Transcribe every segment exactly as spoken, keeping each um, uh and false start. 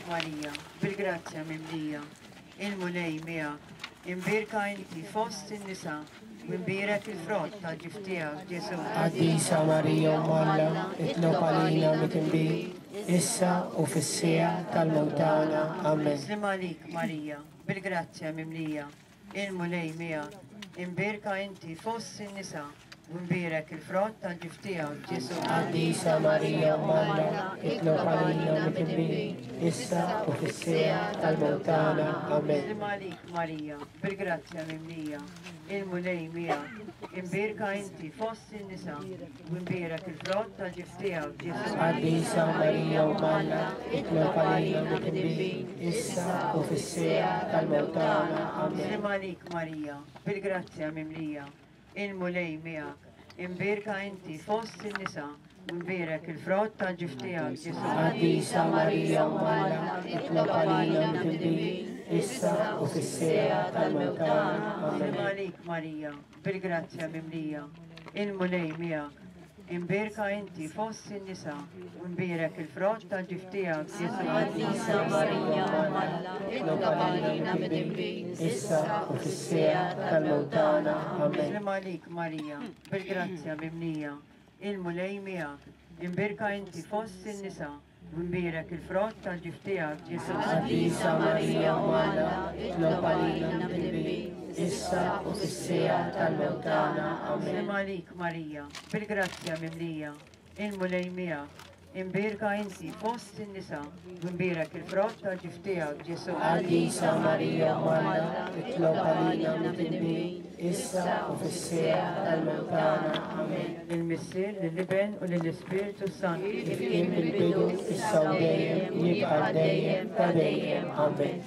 għalik Marija, bil-grazzja mimlija, il-Mulej miegħek, imbierka inti fost in-nisa, u imbierek il-frott tal-ġuf tiegħek Ġesù. Qaddisa Marija Omm Alla, itlob għalina midinbin, issa u fis-siegħa tal-mewt tagħna. Amen. Sliem għalik Marija, bil-grazzja mimlija, il-Mulej miegħek, imbierka inti fost in-nisa, u imbierek il-frott tal-ġuf tiegħek Ġesù. Qaddisa Marija Omm Alla, itlob għalina midinbin, issa u fis-siegħa tal-mewt tagħna. Amen. Sliem għalik Marija, bil-grazzja mimlija, il-Mulej miegħek, imbierka inti fost in-nisa, u imbierek il-frott tal-ġuf tiegħek Ġesù. Qaddisa Marija Omm Alla, itlob għalina midinbin, issa u fis-siegħa tal-mewt tagħna. Amen. Sliem għalik Marija, bil-grazzja mimlija, il-Mulej miegħek, imbierka inti fost in-nisa, u imbierek il-frott tal-ġuf tiegħek Ġesù. Qaddisa Marija Omm Alla, itlob għalina midinbin, issa u fis-siegħa tal-mewt tagħna. Sliem Amen. għalik Marija, bil-grazzja mimlija, il-Mulej miegħek, imbierka inti fost in-nisa, u imbierek il-frott tal-ġuf tiegħek Ġesù. Qaddisa Marija Omm Alla, itlob għalina midinbin, Issa u fis-siegħa tal-mewt tagħna. Amen. Sliem għalik Marija, bil-grazzja mimlija, il-Mulej miegħek, imbierka inti fost in-nisa, u imbierek il-frott tal-ġuf tiegħek Ġesù. Qaddisa Marija Omm Alla, itlob għalina midinbin, issa u fis-siegħa tal-mewt tagħna. Amen. Sliem għalik Marija, bil-grazzja mimlija, il-Mulej miegħek, imbierka inti fost in-nisa, u imbierek il-frott tal-ġuf tiegħek Ġesù. Qaddisa Marija Omm Alla, itlob għalina midinbin, issa u fis-siegħa tal-mewt tagħna. Amen. Lill-Missier, lill-Iben u lill-Ispirtu Santu. Kif kien fil-bidu, issa u dejjem, jibqa' dejjem ta' dejjem. Amen.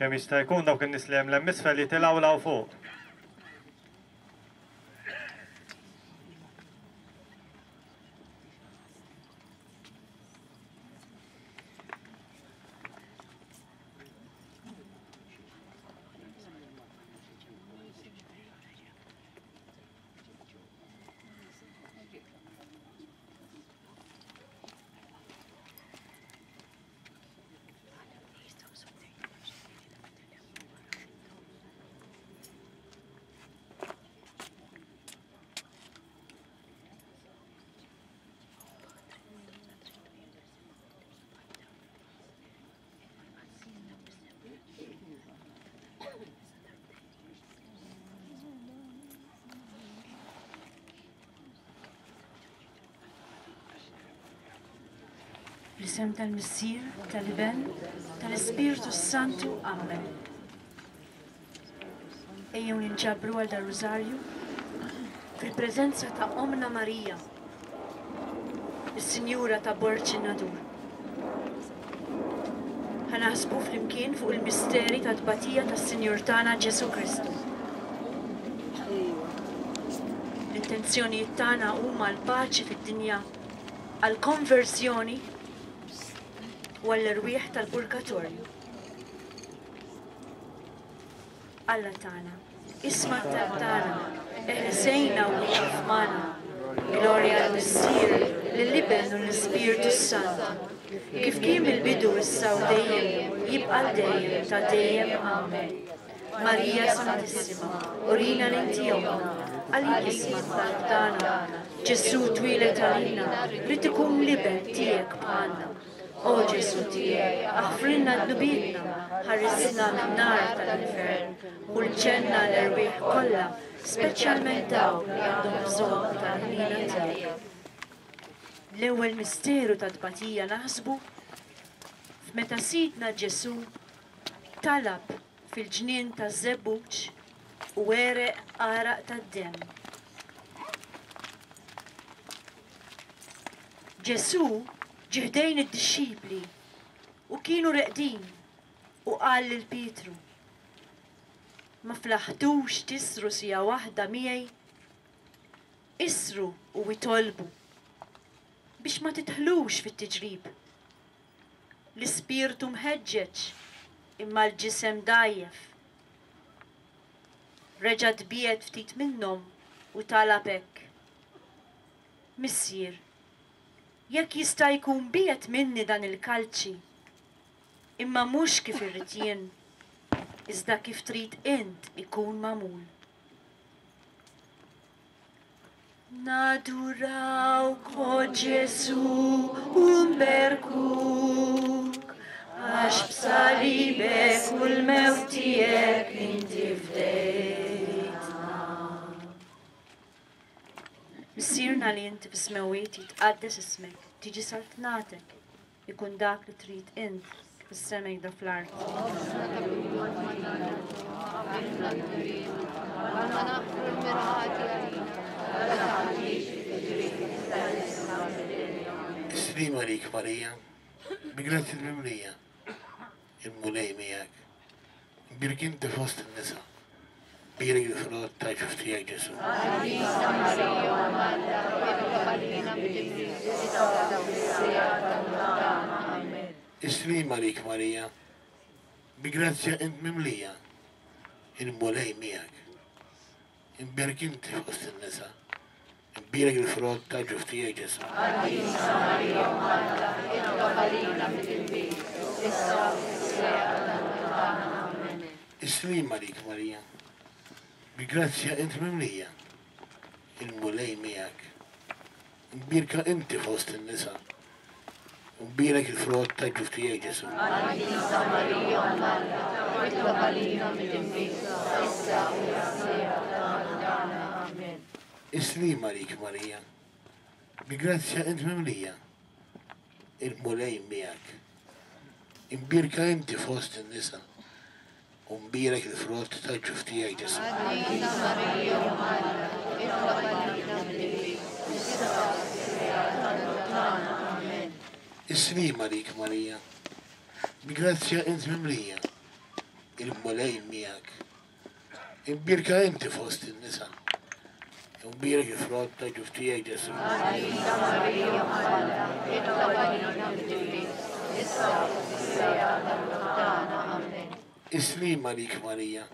Kemm jista' jkun dawk in-nies li hemm 'l isfel jitilgħu 'l fuq. Fl-isem tal-Missier, tal-Iben, tal-Ispirtu Santu. Amen. Ejjew ninġabru għal dar-Rużarju fil-preżenza ta' Omna Marija, is-Sinjura ta' Borġ in-Nadur. Ħa naħsbu flimkien fuq il-misteri ta' tbatija tas-Sinjur tagħna Ġesù Kristu. L-intenzjonijiet tagħna huma l-paċi fid-dinja, għall-konversjoni u għall-erwieħ tal-purgatorju. Alla tagħna, isma' t-talb tagħna, eħlisejna u ieqaf magħna. Glorja lill-Missier, lill-Iben u lill-Ispirtu Santu, kif kien mill-bidu issa u dejjem, jibqa' l dejjem ta' dejjem. Amen. Marija Santissima, urina li inti ommna, għalik isma' t-talb tagħna. Ġesù twieled għalina, rrid ikun l-iben tiegħek bħalna. O Ġesù tiegħi, aħfrilna dnubietna, ħarisna min-nar tal-infern, u l-ġenna l-erwieħ kollha, speċjalment dawk li għandhom bżonn tal-ħniena tiegħek. L-ewwel misteru ta' tbatija naħsbu f'meta Sidna Ġesù talab fil-ġnien taż-żebbuġ u għereq għaraq tad-demm. Ġesù ġie ħdejn id-dixxipli u kienu reqdin u qal lil Pietru: Ma flaħtux tisru sija waħda miegħi? Isru u itolbu biex ma titħlux fit-tiġrib. L-ispirtu mħeġġeġ imma l-ġisem dgħajjef. Reġa' tbiegħed ftit minnhom u talab hekk: Missier, jekk jista' jkun biegħed minni dan il-kalċi, imma mhux kif irrid jien, iżda kif trid int ikun magħmul. Nadurawk, o Ġesù, u nberkuk, għax b'salibek u l-mewt tiegħek inti fdejtna. Missierna li inti fis-smewwiet, jitqaddes ismek, tiġi saltnatek, ikun dak li trid int fis-sema jda fl-art. Is-sliem għalik Marija, bi grazzja mimlija, il-Mulej miegħek. Imbierek inti fost in-nisa, bierek il-frott ta' ġuf tiegħek Ġesù. Is-sliem għalik Marija, bi grazzja int mimlija, il-Mulej miegħek. Imbierek inti fost in-nisa, imbierek il-frott ta' ġuf tiegħek Ġesù. Is-sliem għalik Marija, bi grazzja int mimlija, il-Mulej miegħek. Imbierka inti fost in-nisa, imbierek il-frott ta' ġuf tiegħek Ġesù. Is-sliem għalik Marija, bi grazzja int mimlija, il-Mulej miegħek. Imbierka inti fost in-nisa, u mbierek il-frott ta' ġuf tiegħek Ġesù. Is-sliem għalik Marija, bi grazzja int mimlija, il-Mulej miegħek. Imbierka inti fost in-nisa, u mbierek il-frott ta' ġuf tiegħek Ġesù. Is-sliem għalik Marija,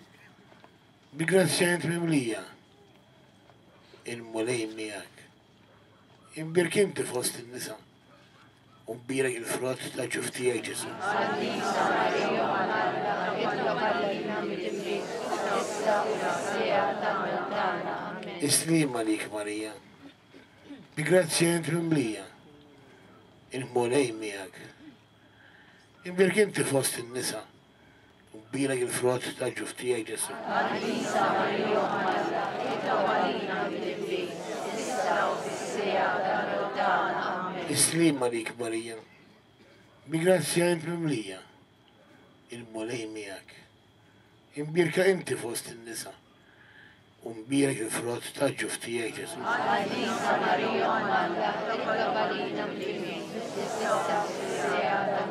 bi grazzja int mimlija, il-Mulej miegħek. Imbierek inti fost in-nisa, u mbierek il-frott ta' ġuf tiegħek Ġesù. Is-sliem għalik Marija, bi grazzja int mimlija, il-Mulej miegħek. Imbierek inti fost in-nisa, u mbierek il-frott ta' ġuf tiegħek Ġesù. Is-sliem għalik Marija, Bi grazzja int mimlija, il-Mulej miegħek. Imbierka inti fost in-nisa, u mbierek il-frott ta' ġuf tiegħek Ġesù. Qaddisa Marija Omm Alla, itlob għalina midinbin, issa u fis-siegħa tal-mewt.